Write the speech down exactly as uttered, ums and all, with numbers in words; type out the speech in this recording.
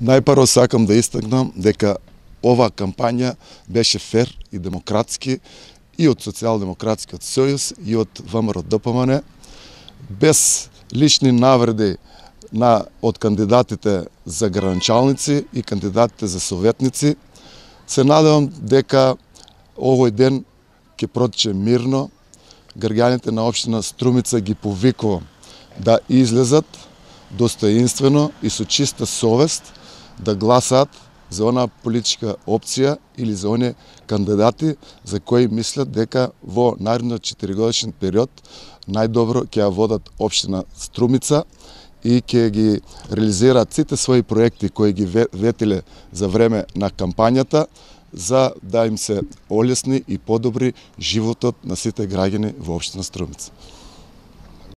Најпрво сакам да истакнам дека ова кампања беше фер и демократски и од Социјалдемократскиот сојуз и од ВМРО-ДПМН, без лични навреди на од кандидатите за граначалници и кандидатите за советници. Се надевам дека овој ден ќе протече мирно. Граѓаните на општина Струмица ги повикувам да излезат достоинствено и со чиста совест да гласаат за она политичка опција или за оние кандидати за кои мислат дека во наредниот четиригодишен период најдобро ќе ја водат општина Струмица и ќе ги реализираат сите своји проекти кои ги ветиле за време на кампањата, за да им се олесни и подобри животот на сите граѓани во општина Струмица.